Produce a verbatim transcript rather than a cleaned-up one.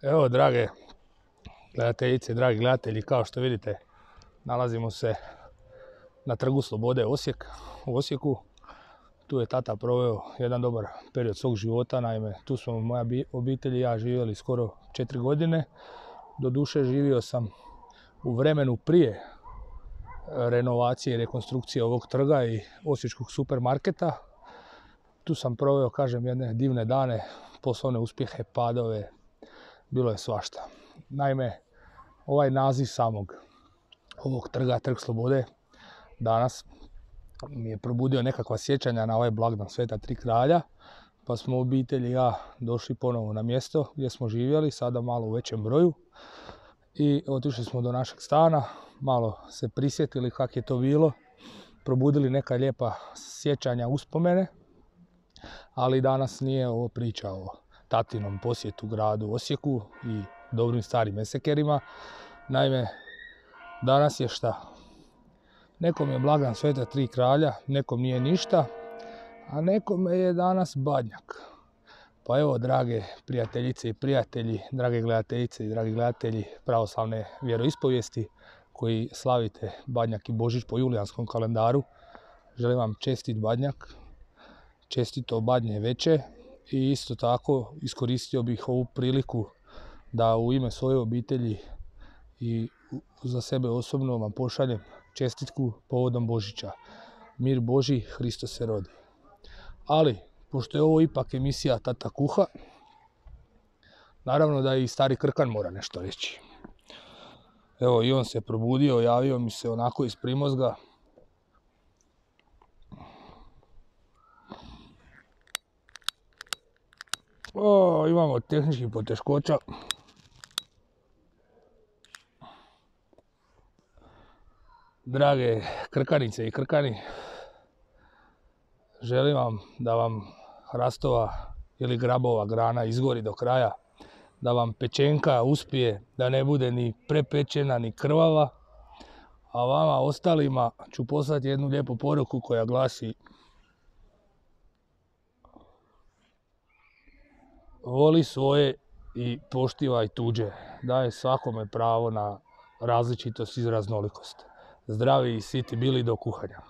Evo, drage gledateljice, dragi gledatelji, kao što vidite, nalazimo se na Trgu Slobode Osijek, u Osijeku. Tu je tata proveo jedan dobar period svog života, naime, tu smo moja obitelj i ja živjeli skoro četiri godine. Doduše, živio sam u vremenu prije renovacije i rekonstrukcije ovog trga i osječkog supermarketa. Tu sam proveo, kažem, jedne divne dane, poslovne uspjehe, padove, bilo je svašta. Naime, ovaj naziv samog ovog trga, Trg Slobode, danas mi je probudio nekakva sjećanja na ovaj blagdan Sveta Tri kralja, pa smo obitelj i ja došli ponovo na mjesto gdje smo živjeli, sada malo u većem broju, i otišli smo do našeg stana, malo se prisjetili kako je to bilo, probudili neka lijepa sjećanja, uspomene, ali danas nije ovo priča o tatinom posjetu gradu Osijeku i dobrim starim esekerima. Naime, danas je šta? Nekom je blagdan Sveta Tri kralja, nekom nije ništa, a nekome je danas Badnjak. Pa evo, drage prijateljice i prijatelji, drage gledateljice i dragi gledatelji pravoslavne vjeroispovijesti koji slavite Badnjak i Božić po julijanskom kalendaru, želim vam čestit Badnjak, čestito Badnje veče, i isto tako iskoristio bih ovu priliku da u ime svoje obitelji i za sebe osobno vam pošaljem čestitku povodom Božića. Mir Božji, Hristos se rodi. Ali, pošto je ovo ipak emisija Tata kuha, naravno da i stari Krkan mora nešto reći. Evo, i on se probudio, javio mi se onako iz primozga. O, imamo tehničkih poteškoća. Drage Krkanice i Krkani, želim vam da vam hrastova ili grabova grana izgori do kraja, da vam pečenka uspije, da ne bude ni prepečena ni krvava, a vama ostalima ću poslati jednu lijepu poruku koja glasi: voli svoje i poštivaj tuđe, daje svakome pravo na različitost i raznolikost. Zdravi i siti bili do kuhanja.